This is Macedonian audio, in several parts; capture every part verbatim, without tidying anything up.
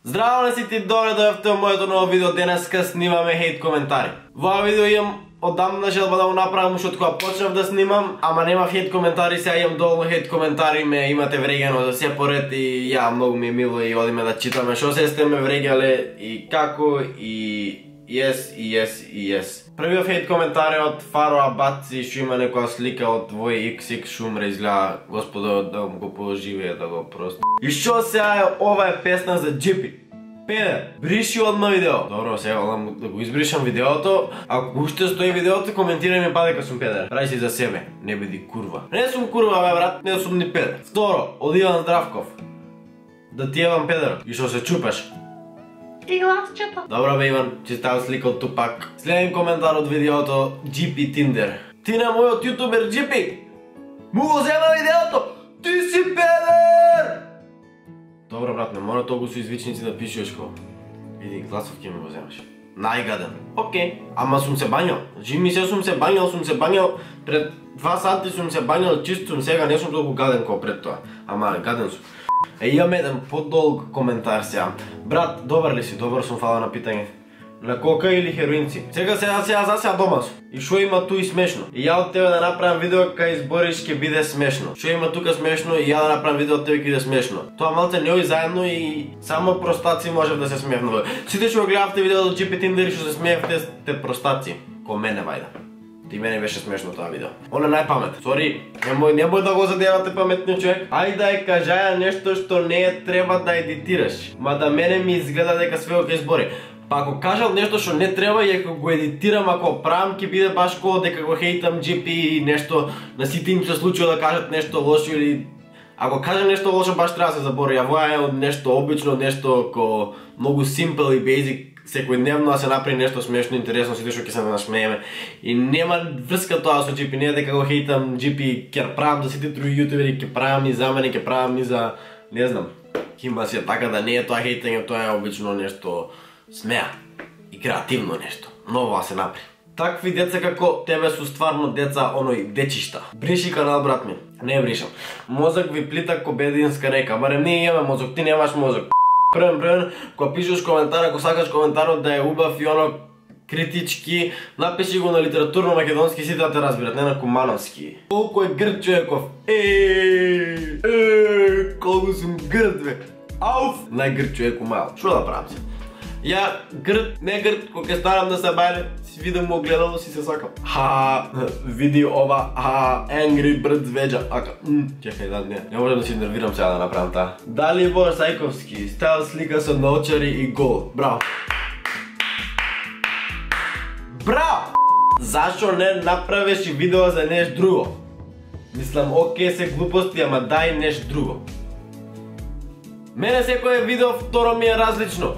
Здраво не си ти, добре дојавте во моето ново видео. Денеска снимаме хейт коментари. Во ова видео имам одамна желба да го направам уште од кога почнав да снимам, ама нема хейт коментари, сега имам доволно хейт коментари, ме имате врегано за се поред и ја многу ми е мило и одиме да читаме што се сте ме врегале и како и yes и yes и yes. Првиот хейт коментар е од Фаро Абаци, што има некоја слика од твој икс икс шумре, изгледа Господо да го поживее, да го просто. И што сега е, ова е песна за Джипи. Педер, бриши одма видео. Добро, сега одам да го избришам видеото. Ако уште стои видеото, коментирај ми па дека сум педер. Рај си за себе, не биди курва. Не сум курва, бе брат, не сум ни педер. Второ, од Иван Здравков. Да ти евам педер. И што се чупеш? И гласчето. Добро бе Иван, че става слика од Тупак. Следен коментар од видеото Джипи Тиндер. Ти на мојот јутубер Джипи му го зема видеото. Ти си педер! Добро брат, не мора толку со извичници да пишеш ко. Види, гласов ќе ми го земаш. Најгаден. Окей, ама сум се бањал. Жими се сум се бањал, сум се бањал. Пред два сати сум се бањал, чист сум, сега не сум толку гаден како пред тоа. Ама гаден сум. Е, имам еден подолг коментар сега. Брат, добар ли си? Добар сум, фала на питање. На кока или хероинци? Сега сега сега за сега дома сум. И шо има ту и смешно? И ја од тебе да направам видео кај избориш ќе биде смешно. Шо има тука смешно и ја да направам видео од тебе ќе биде смешно. Тоа малце не ој заедно и само простаци можев да се смеевме. Сите што го гледавте видеото од Джипи Тиндер и што се смеевте сте простаци. Ко мене вајда. Ти мене беше смешно тоа видео. Он е најпамет. Сори, немој немој да го задевате паметниот човек. Ајде да ја кажаја нешто што не е треба да едитираш. Ма да мене ми изгледа дека све ќе избори. Па ако кажал нешто што не треба и ако го едитирам, ако правам, ќе биде баш ко дека го хейтам Джипи и нешто на сите им се случува да кажат нешто лошо или ако кажам нешто лошо баш треба да се забори. Ја воја е од нешто обично, нешто ко многу simple и basic, секојдневно да се направи нешто смешно, интересно, сите што ќе се насмееме. И нема врска тоа со Джипи, не е дека го хейтам Джипи, ќе правам за сите други јутубери, ќе правам и за мене, ќе правам и за не знам. Кимба си така да не е тоа хейтање, тоа е обично нешто смеа и креативно нешто. Ново да се направи. Такви деца како тебе су стварно деца оној дечишта. Бриши канал брат ми. Не бришам. Мозок ви плита ко бединска река. Барем ние имаме мозок, ти немаш мозок. Првен, првен, кога пишеш коментар, ако сакаш коментарот да е убав и оно критички, напиши го на литературно македонски, сите да те разбират, не на кумановски. Колку е грд човеков. Еее, еее, колку сум грд бе. Ауф, најгрд човек умал. Шо да правам се? Ја грд, не грд, кога ќе станам да се бајле, си видам му огледало, си се сакам. Ха, види ова, а, Angry Birds веджа. Ака, чекај, да, не, не можам да си нервирам сега да направам таа. Далибор Сајковски, стајал слика со научари и гол. Браво. Браво! Зашо не направиш и видео за нешто друго? Мислам, окей се глупости, ама дај нешто друго. Мене секој видео второ ми е различно.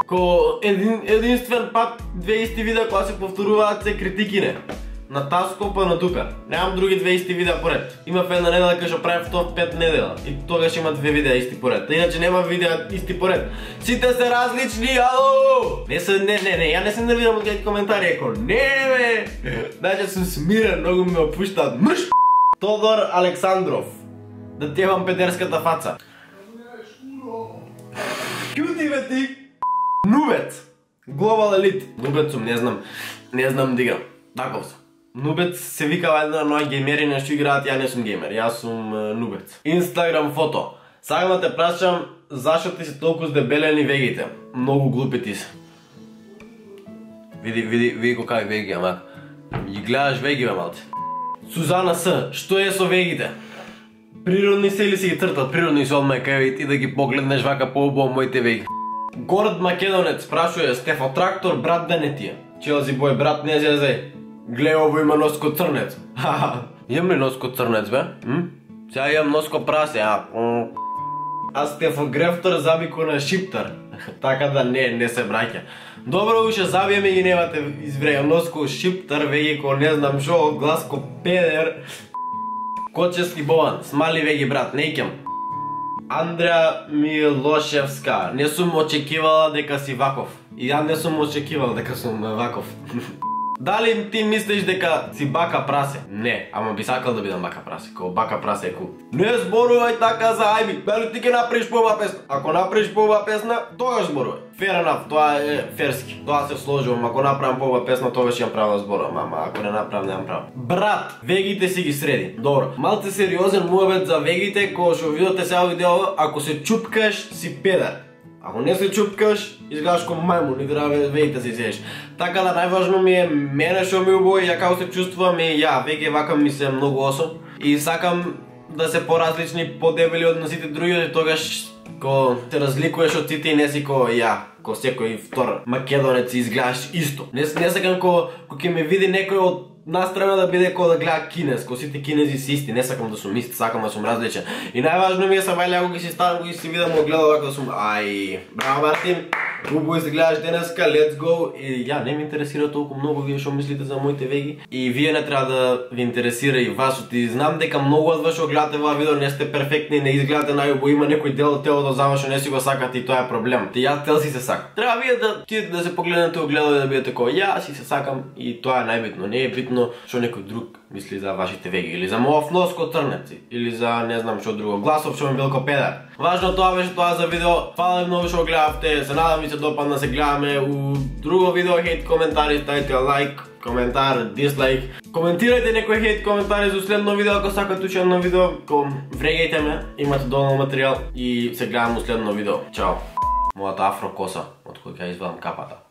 Ко един, единствен пат две исти видеа кои се повторуваат се критикине. На таско па на тука. Немам други две исти видеа поред. Имав една недела кај што правев топ пет недела. И тогаш има две видеа исти поред. Иначе нема видеа исти поред. Сите се различни, ало! Не се, не, не, не, ја не се нервирам од кај коментари, еко, не бе! Значи сум смирен, многу ме опуштаат. Мрш! Тодор Александров. Да ти евам педерската фаца. Кјути бе ти! Нубец! Global Elite. Нубец сум, не знам, не знам да играм. Таков сум. Нубец се викава една ноја геймери нешто играат, ја не сум геймер, јас сум uh, нубец. Инстаграм фото. Сакам да те прашам, зашо ти се толку здебелени вегите? Многу глупи ти се. Види, види, види кој кај веги, ама. Ги гледаш веги, бе, малце. Сузана С, што е со вегите? Природни се или си ги цртат? Природни се одма кај ти да ги погледнеш вака по-убаво моите веги. Горд Македонец прашува Стефо Трактор, брат да не тие. Челзи бој, брат не зезе. Глеј, ово има носко црнец. Имам ли носко црнец, бе? М? Сега имам носко прасе, а? А Стефо Грефтор забико на Шиптар. Така да не, не се браќа. Добро уше забиеме ги немате извреја носко Шиптар, веги ко не знам шо, од гласко педер. Кочески Бован, смали веги брат, не икам. Андреа Милошевска, не сум очекивала дека си ваков. И ја не сум очекивал дека сум ваков. Дали ти мислиш дека си бака прасе? Не, ама би сакал да бидам бака прасе, као бака прасе е кул. Не зборувај така за ајби, бели ти ќе направиш поубава песна. Ако направиш поубава песна, тогаш зборувај. Fair enough, тоа е ферски. Тоа се сложувам, ако направам поубава песна, тогаш ќе право да зборувам, ама ако не направам, немам право. Брат, вегите си ги среди. Добро. Малце сериозен муабет за вегите, кога што видите сега видео, ако се чупкаш, си педар. Ако не се чупкаш, изгледаш ко мајмун и треба вегите си седиш. Така да најважно ми е мене што ми убои, ја како се чувствувам и ја, веќе вака ми се многу особ. И сакам да се поразлични, подебели од сите други, тогаш ко се разликуваш од сите и не си ко ја, ко секој втор македонец изгледаш исто. Не, не сакам ко, ко ќе ме види некој од настрана да биде ко да гледа кинез, ко сите кинези си исти, не сакам да сум ист, сакам да сум различен. И најважно ми е са вајле, ако ги си ставам, ако ги си видам, го гледам вака да сум, ај, браво Мартин, убаво се гледаш денеска, let's go. И ја, не ме интересира толку многу вие што мислите за моите веги. И вие не треба да ви интересира и вас, и знам дека многу од вас што гледате ова видео не сте перфектни, не изгледате најубаво, има некој дел од телото за вас што не си го сакате и тоа е проблем. Те јас тел си се сакам. Треба вие да тидете да се погледнете огледало и да бидете кој ја си се сакам и тоа е најбитно. Не е битно што некој друг мисли за вашите веги или за мојов нос ко трнеци или за не знам што друго. Гласов што ми бил ко педар. Важно тоа беше тоа за видео. Фала ви многу што гледавте. Се надам ви се допадна, се гледаме у друго видео. Хейт коментари, ставите лайк, коментар, дислайк. Коментирајте некој хейт коментари за следно видео ако сакате уште едно видео. Врегајте ме, имате доволно материјал и се гледаме у следно видео. Чао. Мојата афро коса од која ја извадам капата.